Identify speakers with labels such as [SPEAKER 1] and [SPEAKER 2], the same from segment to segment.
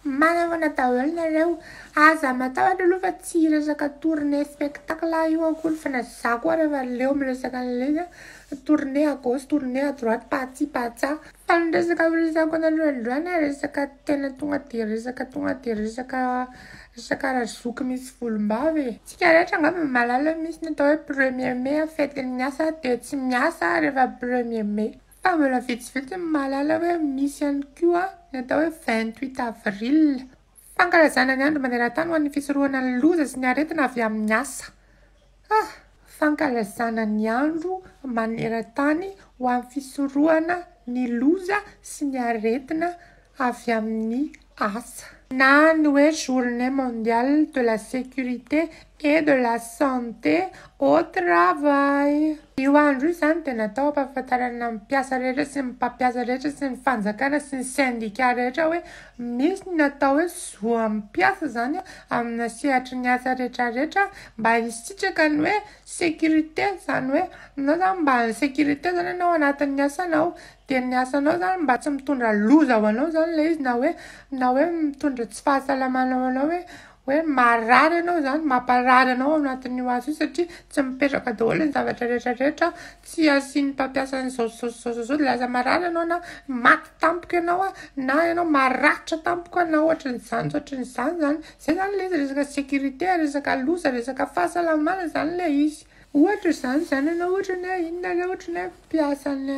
[SPEAKER 1] Manavoana daholo nareo. Aza matahotra aloha fa tsy hiresaka tournée spectacle io akory fa na za koa rehefa leo miresaka an'ilay izy a, tournée à gauche, tournée à droite, patsi patsa. Fa ny resaka horesahako anareo androany a, resaka tena tonga de resaka tonga de resaka resaka razoky misy volombava e. Tsika rehetra angamba mahalala hoe misy ny atao hoe premier mai, fetin'ny asa de tsy miasa rehefa premier mai. Fa mbola vitsivitsy ny mahalala hoe misy ihany koa ny atao hoe 28 avril. Fankalazana ny andro maneran-tany ho an'ny fisorohana ny loza sy ny aretina avy amin'ny asa. Ah! Fankalazana ny andro maneran-tany ho an'ny fisorohana ny loza sy ny aretina avy amin'ny asa. Na ny hoe Journée mondiale de la sécurité et de la santé au travail. Io andro io izany dia natao hampahafantarana ny mpiasa rehetra sy ny mpampiasa rehetra sy ny fanjakana sy ny syndicat rehetra hoe misy ny atao hoe zo amin'ny mpiasa izany amina sehatry ny asa rehetrarehetra mba hisitraka ny hoe sécurité, izany hoe ianao izany mba en sécurité izany ianao anatin'ny asanao. Dia ny asanao izany mba tsy mitondra loza ho anao izany ilay izy na hoe na hoe mitondra tsy fahasalamana ho anao hoe hoe marary ianao izany, mamparary anao ao anatin'io asa io satria tsy mipetraka daholo ny zavatra rehetrarehetra, tsy asian'ny mpampiasa an'izao sy izao sy izao sy izao dia lasa marary ianao na maty tampoka ianao na ianao maratra tampoka na ohatran'izany sy ohatran'izany izany. Izay izany ilay izy, resaka sécurité, resaka loza, resaka fahasalamana izany ilay izy. Ohatra izany izany ianao ohatra ny hoe inona re ohatra ny hoe mpiasa any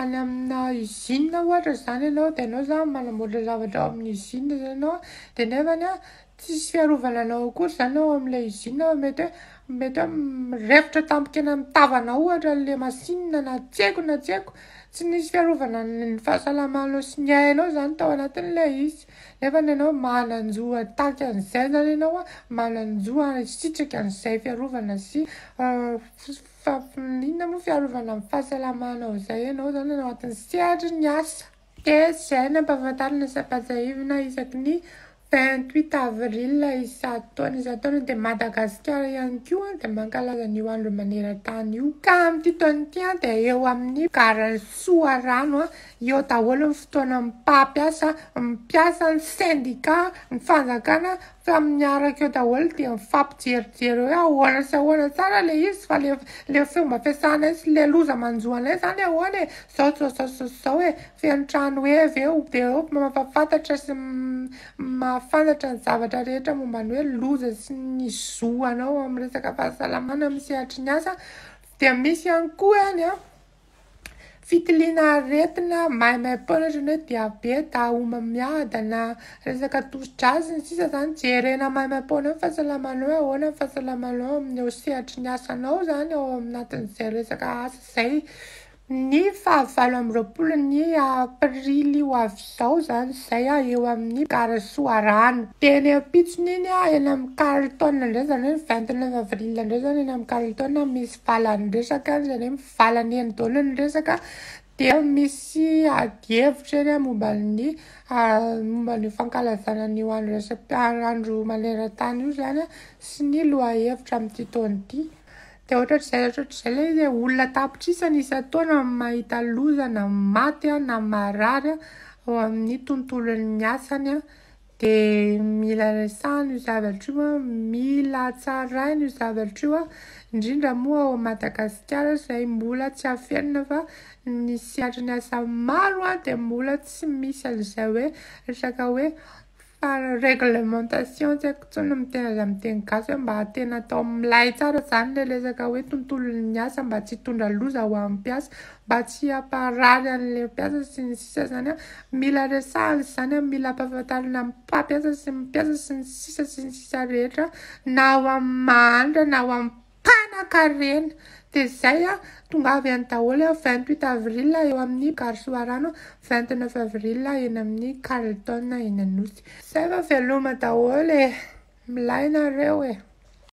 [SPEAKER 1] any amina usine ohatra izany ianao dia ianao izany manamboatra zavatra ao amin'ny usine izany ianao dia nefany an tsisy fiarovana anao akory izany ao amin'ilay usine fa mety hoe mety hoe mirefotra tampoka eny amin'ny tavanao ohatra ilay machine na tsy haiko na tsy haiko, tsy nisy fiarovana ny fahasalamanao sy ny ainao izany tao anatin'ilay izy. Nefa ianao manan-jo hitaky an'izay zany ianao an, manan-jo hisitraka an'izay fiarovana sy inona moa fiarovana amin'ny fahasalamanao izay ianao zany ao anatin'ny sehatry ny asa. Dia izay no ampahafantarina sy ampahatsiahivina isaky ny 28 avril isan-taona isan-taona dia Madagasikara ihany koa dia mankalaza an'io andro maneran-tany io. Ka amin'ity taona ity dia eo amin'ny garan'i Soarano Eo daholo ny fotoana mpampiasa, mpiasa, ny syndicat, ny fanjakana fa miaraka eo daholo dia mifampijerijery hoe ahoana sy ahoana tsara le izy fa le le fomba fiasanay sy le loza manjo anay zany ahoana e, zao zao zao zao zao e, feno trano heva eo dia eo mampahafantatra sy mahafantatra ny zavatra rehetra momba ny hoe loza sy ny zo anao amin'ny resaka fahasalamana amin'ny sehatry ny asa dia misy ihany koa any an. Fitiliana aretina maimaimpoana ohatran'ny hoe diabeta, homamiadana, resaka tosi-drà sy ny sisa zany jerena maimaimpoana eo ny fahasalamanao hoe ahoana ny fahasalamanao amin'ny eo sehatry ny asanao zany ao anatin'izay resaka asa izay. Ny fahavalo amby roapolo ny aprily ho avy izao zany izay eo amin'ny gara Soarano. Dia ny ampitson'iny eny amin'ny Carlton indray izany hoe ny 29 avril indray izany eny amin'ny Carlton misy valan-dresaka any izany hoe Valany eny daholo ny resaka dia misy adihevitra eny momba ny momba ny fankalazana an'io andro iraisam-piara andro maneran-tany io izany sy ny lohahevitra amin'ity taona ity. Dia ohatrohatr'izay ohatrohatr'izay ilay izy e, olona an-tapitrisany isan-taona mahita loza na maty na marary ao amin'ny tontolon'ny asany. Dia mila resahana io zavatra io an, mila tsaraina io zavatra io an, indrindra moa ao Madagasikara izay mbola tsy afenina fa ny sehatry ny asa maro an dia mbola tsy misy an'izay hoe resaka hoe réglementation tsy haiko intsony ny miteny azy amin'ny teny gasy hoe mba tena atao milay tsara izany ilay resaka hoe tontolon'ny asa mba tsy hitondra loza ho an'ny mpiasa, mba tsy hamparary an'ilay mpiasa sy ny sisa izany an, mila resahana izany an, mila ampahafantarina amin'ny mpampiasa sy ny mpiasa sy ny sisa sy ny sisa rehetra na ho amin'ny mahantra na ho amin'ny mpanan-karena. Dia izay an, tongava ihany daholo an, 28 avril eo amin'ny Gare Soarano, 29 avril eny amin'ny Carlton eny Anosy. Izay fa veloma daholo e! Milay nareo e!